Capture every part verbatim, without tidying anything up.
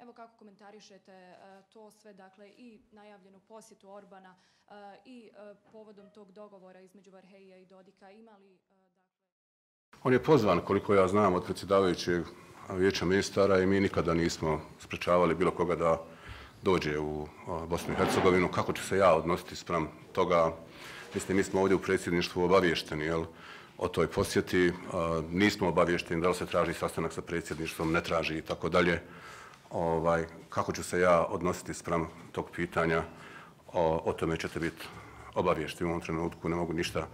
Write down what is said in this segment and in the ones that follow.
Evo kako komentarišete to sve, dakle i najavljenu posjetu Orbana i povodom tog dogovora između Varhejija i Dodika, imali... On je pozvan, koliko ja znam, od predsjedavajućeg vijeća ministara i mi nikada nismo sprečavali bilo koga da dođe u Bosnu i Hercegovinu. Kako ću se ja odnositi spram toga? Mislim, mi smo ovdje u predsjedništvu obavješteni, jel, o toj posjeti. Nismo obavješteni da li se traži sastanak sa predsjedništvom, ne traži i tako dalje. Kako ću se ja odnositi spram tog pitanja? O, o tome ćete biti obavješteni u ovom trenutku. Ne mogu ništa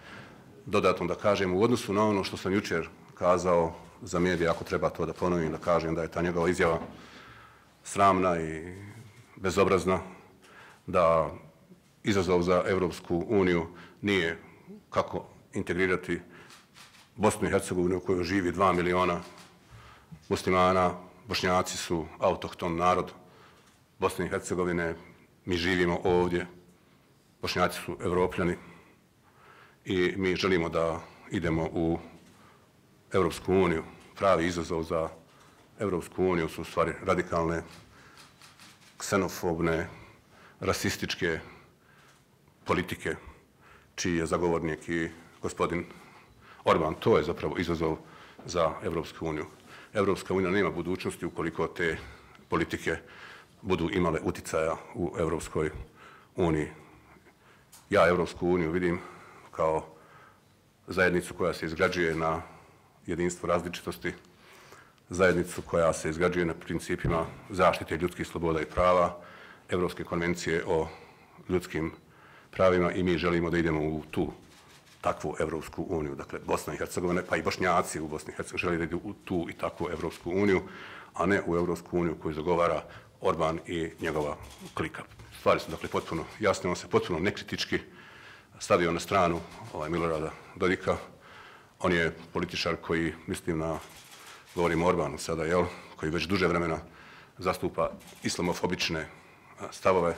dodatno da kažem u odnosu na ono što sam jučer kazao za medije, ako treba to da ponovim, da kažem da je ta njegova izjava sramna i bezobrazna, da izazov za Evropsku uniju nije kako integrirati Bosnu i Hercegovinu u kojoj živi dva miliona muslimana. Bošnjaci su autohton narod Bosne i Hercegovine, mi živimo ovdje, Bošnjaci su Evropljani i mi želimo da idemo u Evropsku uniju. Pravi izazov za Evropsku uniju su u stvari radikalne, ksenofobne, rasističke politike, čiji je zagovornik i gospodin Orban. To je zapravo izazov za Evropsku uniju. Evropska unija nema budućnosti ukoliko te politike budu imale uticaja u Evropskoj uniji. Ja Evropsku uniju vidim kao zajednicu koja se izgrađuje na jedinstvu različitosti, zajednicu koja se izgrađuje na principima zaštite ljudskih sloboda i prava, Evropske konvencije o ljudskim pravima i mi želimo da idemo u tu takvu Evropsku uniju. Dakle, Bosna i Hercegovina, pa i Bošnjaci u Bosni i Hercegovini žele da idu u tu i takvu Evropsku uniju, a ne u Evropsku uniju koju zagovara Orban i njegova klika. Stvari su dakle potpuno jasne, on se potpuno nekritički stavio na stranu ovaj, Milorada Dodika. On je političar koji, mislim na, govorimo o Orbanu sada, jel, koji već duže vremena zastupa islamofobične stavove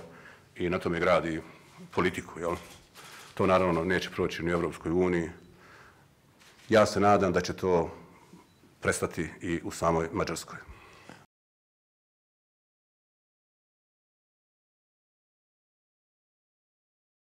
i na tome gradi politiku, jel. To naravno neće proći ni u Evropskoj uniji. Ja se nadam da će to prestati i u samoj Mađarskoj.